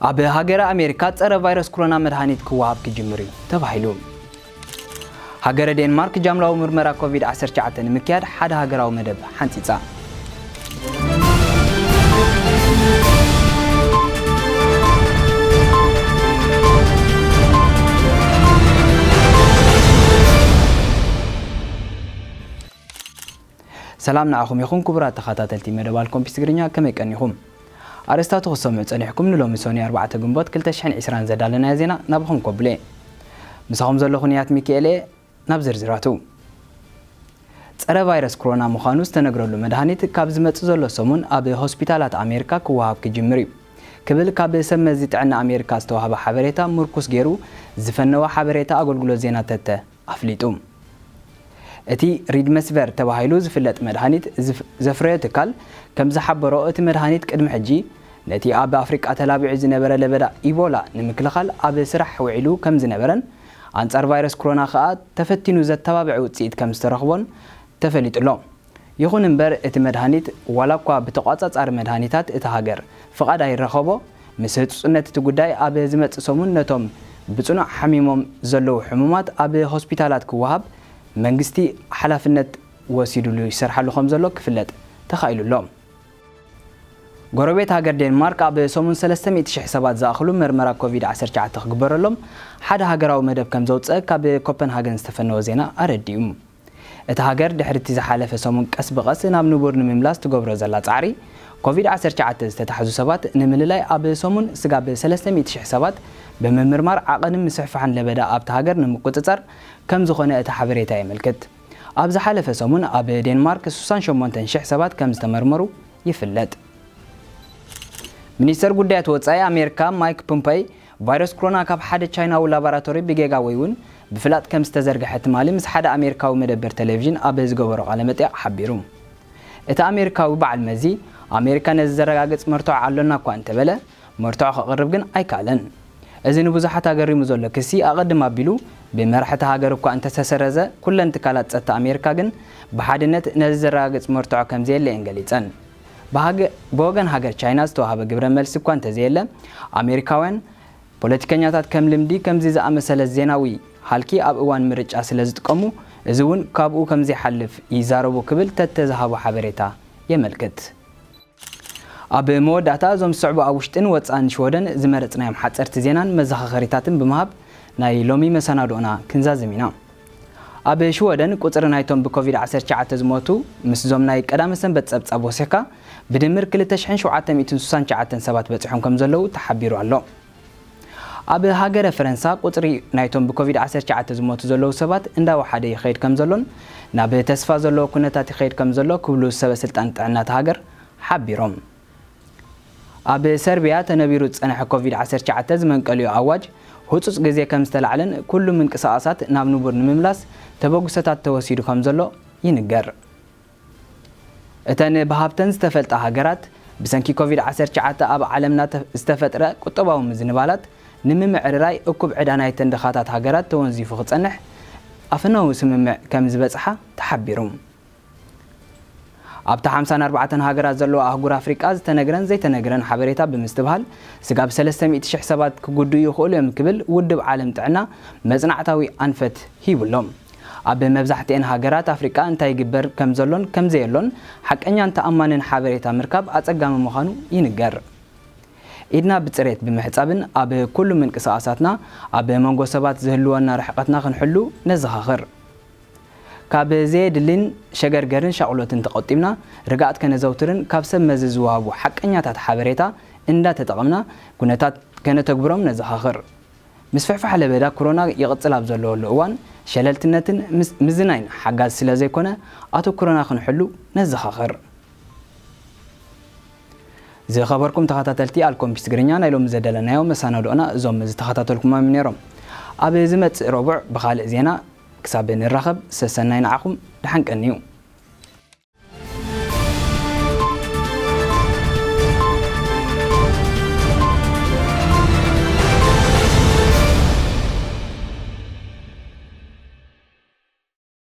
ኣብ ሃገረ ኣሜሪካ ጸረ ቫይረስ ኮሮና መድሃኒት ክወሃብ ክጅምር እዩ ተባሂሉ። ሃገረ ዴንማርክ ጃምላዊ ምርመራ ኮቪድ ዓሰርተ ትሽዓተ ንምክያድ ሓደ ሃገራዊ መደብ ሓንጺጻ። ሰላም ንዓኹም ይኹን ክቡራት ተኸታተልቲ መደብ ኣልኮምፒስ ትግርኛ፣ ከመይ ቀኒኹም? ኣርእስታቱ ክሰምዑ ጸኒሕኩም። ንሎሚ ሶኒ ኣርባዕተ ግንቦት ክልተ ሽሕን ዕስራን ዘዳለናዮ ዜና ናብኹም ከብሎ እየ። ምሳኹም ዘለኹ ንያት ሚካኤል እየ። ናብ ዝርዝራቱ። ጸረ ቫይረስ ኮሮና ምዃኑ ዝተነግረሉ መድሃኒት ካብ ዝመጽእ ዘሎ ሰሙን ኣብ ሆስፒታላት ኣሜሪካ ክወሃብ ክጅምር እዩ ክብል ካብ ሰብ መዚ ጥዕና ኣሜሪካ ዝተዋህበ ሓበሬታ ምርኩስ ገይሩ ዝፈነወ ሓበሬታ ኣገልግሎት ዜና ተተ ኣፍሊጡ። እቲ ሪድመስቨር ተባሂሉ ዝፍለጥ መድሃኒት ዝፍ-፣ ዘፍረዮ ትካል ከም ዝሓበሮ፣ እቲ መድሃኒት ቅድሚ ሕጂ ነቲ ኣብ ኣፍሪቃ ተላቢዑ ዝነበረ ለበዳ ኢቦላ ንምክልኻል ኣብ ስራሕ ውዒሉ ከም ዝነበረን ኣንጻር ቫይረስ ኮሮና ከኣ ተፈቲኑ ዘተባብዕ ውጽኢት ከም ዝተረኽቦን ተፈሊጡ ኣሎ። ይኹን እምበር፣ እቲ መድሃኒት ዋላ እኳ ብተቋጻጻሪ መድሃኒታት እታ ሃገር ፍቓድ ኣይረኸቦ፣ ምስ ህጹጽነት እቲ ጉዳይ ኣብ ዝመጽእ ሰሙን ነቶም ብጽኑዕ ሓሚሞም ዘለዉ ሕሙማት ኣብ ሆስፒታላት ክወሃብ መንግስቲ ሓላፍነት ወሲዱሉ ይሰርሓሉ ከም ዘሎ ክፍለጥ ተኻኢሉ ኣሎ። ጎረቤት ሃገር ዴንማርክ ኣብ ሰሙን ሰለስተ ሚእቲ ሽሕ ሰባት ዝኣኽሉ መርመራ ኮቪድ ዓሰርተ ትሽዓተ ክግበረሎም ሓደ ሃገራዊ መደብ ከም ዘውጽአ ካብ ኮፐንሃገን ዝተፈነወ ዜና ኣረዲኡ። እታ ሃገር ድሕሪ እቲ ዝሓለፈ ሰሙን ቀስ ብቐስ ናብ ንቡር ንምምላስ ትገብሮ ዘላ ጻዕሪ፣ ኮቪድ ዓሰርተ ትሽዓተ ዝተታሕዙ ሰባት ንምልላይ ኣብ ሰሙን ስጋብ ሰለስተ ሚእቲ ሽሕ ሰባት ብምምርማር ዓቐንን ምስሕፋሕን ለበዳ ኣብታ ሃገር ንምቁጽጻር ከም ዝኾነ እቲ ሓበሬታ የመልክት። ኣብ ዝሓለፈ ሰሙን ኣብ ዴንማርክ ስሳን ሸሞንተን ሽሕ ሰባት ከም ዝተመርመሩ ይፍለጥ። ሚኒስተር ጉዳያት ወጻኢ ኣሜሪካ ማይክ ፖምፐይ፣ ቫይረስ ኮሮና ካብ ሓደ ቻይናዊ ላቦራቶሪ ብጌጋ ወይ እውን ብፍላጥ ከም ዝተዘርግሐ ትማሊ ምስ ሓደ ኣሜሪካዊ መደበር ቴሌቪዥን ኣብ ዝገበሮ ቃለ መጠይቕ ሓቢሩ። እቲ ኣሜሪካዊ በዓል መዚ፣ ኣሜሪካ ነዚ ዘረጋግጽ መርትዖ ኣሎና እኳ እንተበለ፣ መርትዖ ከቕርብ ግን ኣይከኣለን። እዚ ንብዙሓት ኣገሪሙ ዘሎ ክሲ፣ ኣቐድም ኣቢሉ ብመራሕቲ ሃገር እኳ እንተተሰረዘ፣ ኩለን ትካላት ጸጥታ ኣሜሪካ ግን ብሓድነት ነዚ ዘረጋግጽ መርትዖ ከም ዘየለ እየን ገሊጸን። ብሃገ-፣ ብወገን ሃገር ቻይና ዝተዋህበ ግብረ መልሲ እኳ እንተዘየለ፣ ኣሜሪካውያን ፖለቲከኛታት ከም ልምዲ ከምዚ ዝኣመሰለ ዜናዊ ሃልኪ ኣብ እዋን ምርጫ ስለ ዝጥቀሙ፣ እዚ እውን ካብኡ ከም ዘይሓልፍ ይዛረቡ ክብል ተተዝሃቦ ሓበሬታ የመልክት። ኣብ መወዳእታ፣ እዞም ዝስዕቡ ኣብ ውሽጥን ወጻእን ሽወደን ዝመረጽናዮም ሓጸርቲ ዜናን መዘኻኸሪታትን ብምሃብ ናይ ሎሚ መሰናድኦና ክንዛዝም ኢና። ኣብ ሽወደን ቁጽሪ ናይቶም ብኮቪድ ዓሰርተ ትሽዓተ ዝሞቱ ምስዞም ናይ ቀዳመ ሰንበት ጸብጻብ ወሲኽካ ብድምር ክልተ ሽሕን ሸውዓተ ሚእትን ስሳን ትሽዓተን ሰባት በጺሖም ከም ዘለዉ ተሓቢሩ ኣሎ። ኣብ ሃገረ ፈረንሳ ቁጽሪ ናይቶም ብኮቪድ ዓሰርተ ትሽዓተ ዝሞቱ ዘለዉ ሰባት እንዳወሓደ ይኸይድ ከም ዘሎን ናብ ተስፋ ዘለዎ ኩነታት ይኸይድ ከም ዘሎ ክብሉ ሰበ ስልጣን ጥዕና እታ ሃገር ሓቢሮም። ኣብ ሰርቢያ ተነቢሩ ዝጸንሐ ኮቪድ ዓሰርተ ትሽዓተ ዝመንቀሊኡ ኣዋጅ ህጹጽ ግዜ ከም ዝተላዕለን ኩሉ ምንቅስቓሳት ናብ ንቡር ንምምላስ ተበግሶታት ተወሲዱ ከም ዘሎ ይንገር። እተን ብሃብተን ዝተፈልጣ ሃገራት ብሰንኪ ኮቪድ ዓሰርተ ትሽዓተ ኣብ ዓለምና ተ-፣ ዝተፈጥረ ቁጠባዊ ምዝንባላት ንምምዕርራይ እኩብ ዕዳ ናይተን ድኻታት ሃገራት ተወንዚፉ ክጸንሕ ኣፈናዊ ስምምዕ ከም ዝበጽሓ ተሓቢሩ። ኣብታ ሓምሳን ኣርባዕተን ሃገራት ዘለዋ ኣህጉር ኣፍሪቃ ዝተነግረን ዘይተነግረን ሓበሬታ ብምስትብሃል፣ ስጋብ ሰለስተ ሚእቲ ሽሕ ሰባት ክጉድኡ ይኽእሉ እዮም ክብል ውድብ ዓለም ጥዕና መጽናዕታዊ ኣንፈት ሂቡ ኣሎ። ኣብ መብዛሕትኤን ሃገራት ኣፍሪቃ እንታይ ይግበር ከም ዘሎን ከም ዘየሎን ሓቀኛን ተኣማንን ሓበሬታ ምርካብ ኣጸጋሚ ምዃኑ ይንገር። ኢድና ብጽሬት ብምሕጻብን ኣብ ኩሉ ምንቅስቓሳትና ኣብ መንጎ ሰባት ዝህልወና ርሕቀትና ክንሕሉ ነዘኻኽር። ካብ ዘየድልን ሸገርገርን ሻቕሎትን ተቖጢብና፣ ርግኣት ከነዘውትርን ካብ ሰብ መዚ ዝወሃቡ ሓቀኛታት ሓበሬታ እንዳተጠቐምና ኩነታት ከነተግብሮም ነዘኻኽር። ምስፍሕፋሕ ለበዳ ኮሮና ይቕጽል ኣብ ዘለወሉ እዋን፣ ሸለልትነትን ምስ-፣ ምዝናይን ሓጋዚ ስለ ዘይኮነ፣ ኣተኩሮና ክንሕሉ ነዘኻኽር። ዝኸበርኩም ተኸታተልቲ ኣልኮምፒስ ትግርኛ፣ ናይ ሎሚ ዘዳለናዮ መሰናድኦና እዞም ዝተኸታተልኩሞም ነይሮም። ኣብ ዝመጽእ ረቡዕ ብኻልእ ዜና ክሳብ ንራኸብ፣ ሰሰናይ ንዓኹም፣ ደሓን ቀንዩ።